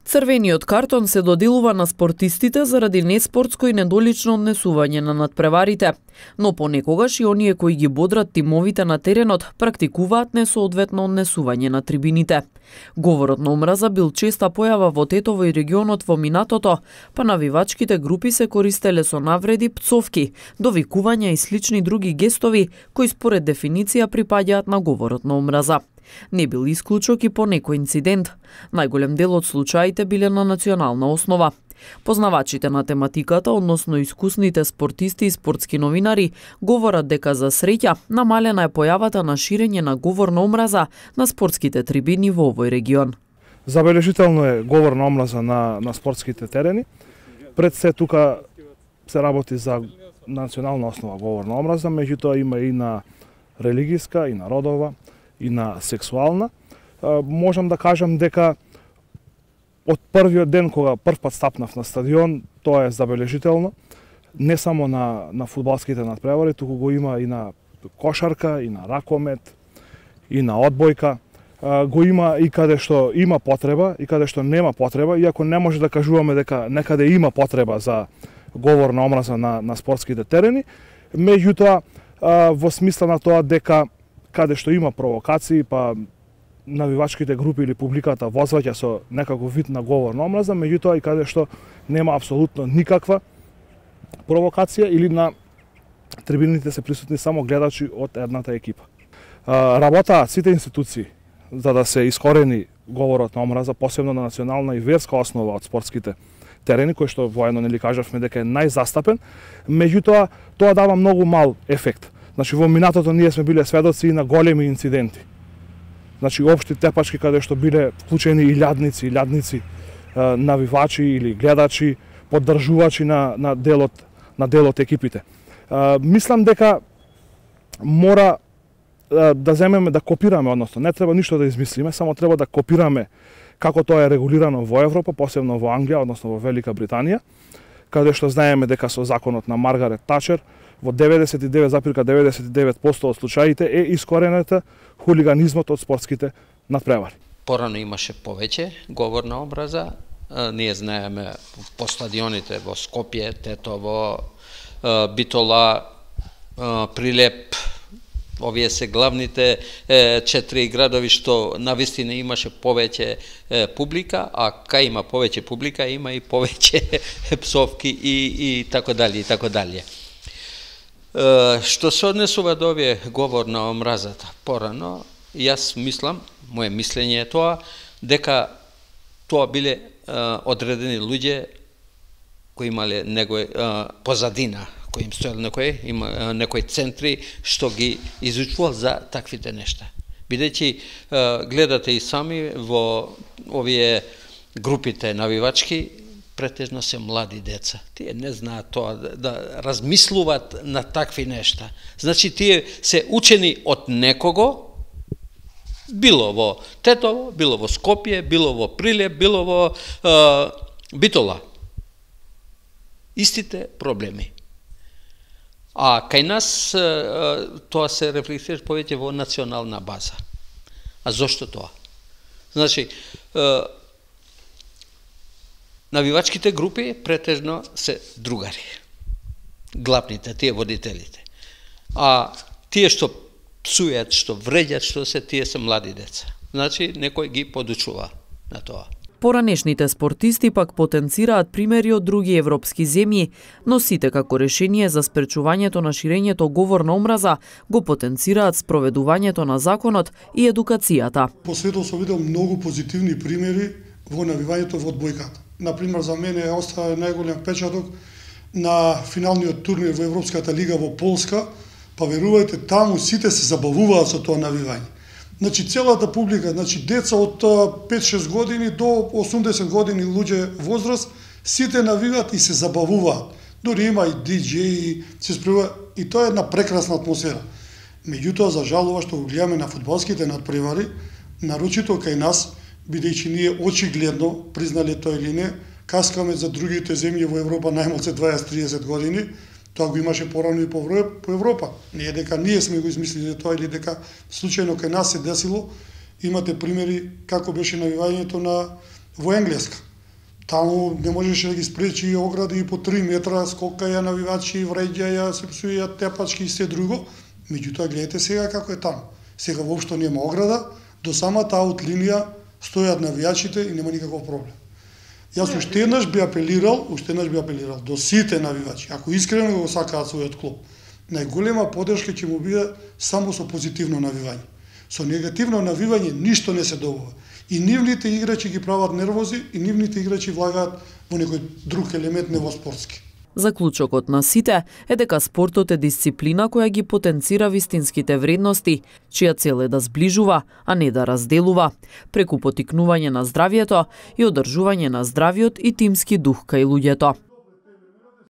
Црвениот картон се доделува на спортистите заради неспортско и недолично однесување на надпреварите, но понекогаш и оние кои ги бодрат тимовите на теренот практикуваат несоодветно однесување на трибините. Говорот на омраза бил честа појава во Тетово и регионот во минатото, па навивачките групи се користеле со навреди, пцовки, довикувања и слични други гестови кои според дефиниција припаѓаат на говорот на омраза. Не бил исклучок и по некој инцидент. Најголем дел од случаите биле на национална основа. Познавачите на тематиката, односно искусните спортисти и спортски новинари, говорат дека за среќа намалена е појавата на ширење на говор на омраза на спортските трибини во овој регион. Забележително е говор на омраза на спортските терени. Пред се тука се работи за национална основа говор на омраза, меѓутоа има и на религиска, и на родова, и на сексуална. Можам да кажам дека од првиот ден кога првпат стапнав на стадион, тоа е забележително. Не само на фудбалските надпревари, туку го има и на кошарка, и на ракомет, и на одбојка. Го има и каде што има потреба, и каде што нема потреба, иако не може да кажуваме дека некаде има потреба за говор на омраза на спортските терени. Меѓутоа, во смисла на тоа дека каде што има провокации, па навивачките групи или публиката возваќа со некаков вид на говор на омраза, меѓутоа и каде што нема апсолутно никаква провокација или на трибините се присутни само гледачи од едната екипа. Работаат сите институции за да се искорени говорот на омраза, посебно на национална и верска основа од спортските терени, кој што воено нели кажавме дека е најзастапен, меѓутоа тоа дава многу мал ефект. Значи во минатото ние сме биле сведоци и на големи инциденти. Значи општи тепачки каде што биле вклучени и илјадници навивачи или гледачи, поддржувачи на делот екипите. Мислам дека мора да земеме да копираме, односно не треба ништо да измислиме, само треба да копираме како тоа е регулирано во Европа, посебно во Англија, односно во Велика Британија, каде што знаеме дека со законот на Маргарет Тачер во 99,99% од случаите е искоренета хулиганизмот од спортските надпревари. Порано имаше повеќе говор на омраза. Ние знаеме по стадионите во Скопје, Тетово, Битола, Прилеп, овие се главните 4 градови што навистина имаше повеќе публика, а кај има повеќе публика има и повеќе псовки и така дали и така дали. Што се однесува до овие говор на омразата порано, јас мислам, моje мислење е тоа, дека тоа биле одредени луѓе кои имале некој позадина, кои им стоел некои центри што ги изучувал за таквите нешта. Бидејќи гледате и сами во овие групите навивачки, претежно се млади деца. Тие не знаат тоа да размислуваат на такви нешта. Значи тие се учени од некого, било во Тетово, било во Скопје, било во Прилеп, било во Битола. Истите проблеми. А кај нас тоа се рефлектира повеќе во национална база. А зошто тоа? Значи, навивачките групи претежно се другари. Главните, тие водителите. А тие што псујат, што вреѓат, што се, тие се млади деца. Значи, некој ги подучува на тоа. Поранешните спортисти пак потенцираат примери од други европски земји, но сите како решение за спречувањето на ширењето говор на омраза го потенцираат спроведувањето на законот и едукацијата. По светот се видел многу позитивни примери во навивањето во одбојката. Например, за мене остава најголем печаток на финалниот турнир во Европската лига во Полска, па верувајте, таму сите се забавуваат со тоа навивање. Значи, целата публика, значи, деца од 5-6 години до 80 години луѓе возраст, сите навиваат и се забавуваат. Дори има и диџеи, се спреваат, и тоа е една прекрасна атмосфера. Меѓутоа, за жалова што го гледаме на фудбалските надпревари, нарочито кај нас, бидејќи ние очигледно, признале тоа или не, каскаме за другите земји во Европа најмалце 20-30 години, тоа го имаше порано и по Европа. Не е дека ние сме го измислили тоа или дека случајно кај нас се десило. Имате примери како беше навивањето во Енглеска. Таму не можеше да ги спречи огради и по 3 метра, скокаја навивачи, вреѓаја, се псуја, тепачки и се друго. Меѓутоа, гледате сега како е таму. Сега воопшто нема ограда, до самата аут линија стојат навијачите и нема никаков проблем. Јас уште еднаш би апелирал до сите навивачи, ако искрено го сакаат својот клуб, најголема поддршка ќе му биде само со позитивно навивање. Со негативно навивање ништо не се добива. И нивните играчи ги прават нервози, и нивните играчи влагаат во некој друг елемент, не во спортски. Заклучокот на сите е дека спортот е дисциплина која ги потенцира вистинските вредности, чија цел е да зближува, а не да разделува, преку поттикнување на здравието и одржување на здравиот и тимски дух кај луѓето.